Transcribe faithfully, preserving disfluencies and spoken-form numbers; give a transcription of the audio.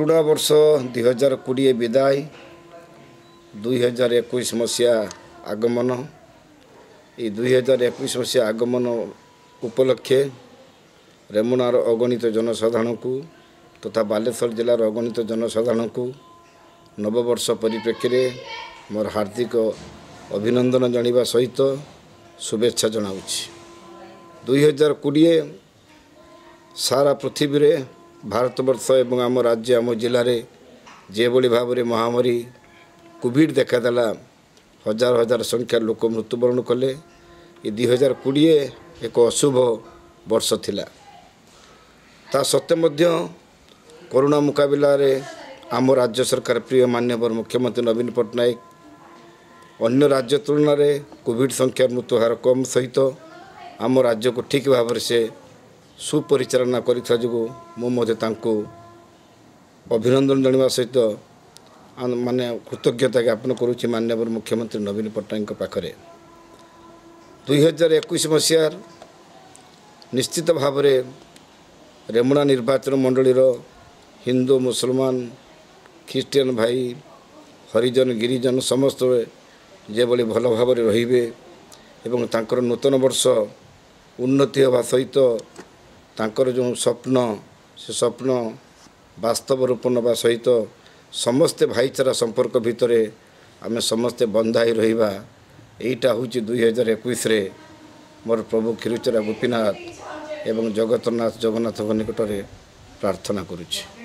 ପୁରୁଣା ବର୍ଷ ଦୁଇ ହଜାର କୋଡ଼ିଏ ବିଦାୟ, ଦୁଇ ହଜାର ଏକୋଇଶ ମସିହା ଆଗମନ। ଏଇ ଦୁଇ ହଜାର ଏକୋଇଶ ମସିହା ଆଗମନ ଉପଲକ୍ଷେ ରେମୁଣାର ଅଗଣିତ ଜନସାଧାରଣଙ୍କୁ ତଥା ବାଲେଶ୍ୱର ଜିଲ୍ଲାର ଅଗଣିତ ଜନସାଧାରଣଙ୍କୁ ନବବର୍ଷ ପରିପ୍ରେକ୍ଷୀରେ ମୋର ହାର୍ଦ୍ଦିକ ଅଭିନନ୍ଦନ ଜଣାଇବା ସହିତ ଶୁଭେଚ୍ଛା ଜଣାଉଛି। ଦୁଇ ହଜାର କୋଡ଼ିଏ ସାରା ପୃଥିବୀରେ, ଭାରତବର୍ଷ ଏବଂ ଆମ ରାଜ୍ୟ, ଆମ ଜିଲ୍ଲାରେ ଯେଭଳି ଭାବରେ ମହାମାରୀ କୋଭିଡ଼ ଦେଖାଦେଲା, ହଜାର ହଜାର ସଂଖ୍ୟାର ଲୋକ ମୃତ୍ୟୁବରଣ କଲେ। ଏ ଦୁଇ ହଜାର କୋଡ଼ିଏ ଏକ ଅଶୁଭ ବର୍ଷ ଥିଲା। ତା ସତ୍ତ୍ୱେ ମଧ୍ୟ କରୋନା ମୁକାବିଲାରେ ଆମ ରାଜ୍ୟ ସରକାର, ପ୍ରିୟ ମାନ୍ୟବର ମୁଖ୍ୟମନ୍ତ୍ରୀ ନବୀନ ପଟ୍ଟନାୟକ, ଅନ୍ୟ ରାଜ୍ୟ ତୁଳନାରେ କୋଭିଡ଼ ସଂଖ୍ୟା ମୃତ୍ୟୁହାର କମ୍ ସହିତ ଆମ ରାଜ୍ୟକୁ ଠିକ୍ ଭାବରେ ସେ ସୁପରିଚାଳନା କରିଥିବା ଯୋଗୁଁ ମୁଁ ମଧ୍ୟ ତାଙ୍କୁ ଅଭିନନ୍ଦନ ଜଣାଇବା ସହିତ ମାନେ କୃତଜ୍ଞତା ଜ୍ଞାପନ କରୁଛି ମାନ୍ୟବର ମୁଖ୍ୟମନ୍ତ୍ରୀ ନବୀନ ପଟ୍ଟନାୟକଙ୍କ ପାଖରେ। ଦୁଇ ହଜାର ଏକୋଇଶ ମସିହାର ନିଶ୍ଚିତ ଭାବରେ ରେମୁଣା ନିର୍ବାଚନ ମଣ୍ଡଳୀର ହିନ୍ଦୁ, ମୁସଲମାନ, ଖ୍ରୀଷ୍ଟିଆନ ଭାଇ, ହରିଜନ, ଗିରିଜନ ସମସ୍ତେ ଯେଭଳି ଭଲ ଭାବରେ ରହିବେ ଏବଂ ତାଙ୍କର ନୂତନ ବର୍ଷ ଉନ୍ନତି ହେବା ସହିତ ତାଙ୍କର ଯେଉଁ ସ୍ୱପ୍ନ, ସେ ସ୍ୱପ୍ନ ବାସ୍ତବ ରୂପ ନେବା ସହିତ ସମସ୍ତେ ଭାଇଚାରା ସମ୍ପର୍କ ଭିତରେ ଆମେ ସମସ୍ତେ ବନ୍ଧା ହୋଇ ରହିବା, ଏଇଟା ହେଉଛି ଦୁଇ ହଜାର ଏକୋଇଶରେ ମୋର ପ୍ରଭୁ କ୍ଷୀରଚୋରା ଗୋପୀନାଥ ଏବଂ ଜଗତନାଥ ଜଗନ୍ନାଥଙ୍କ ନିକଟରେ ପ୍ରାର୍ଥନା କରୁଛି।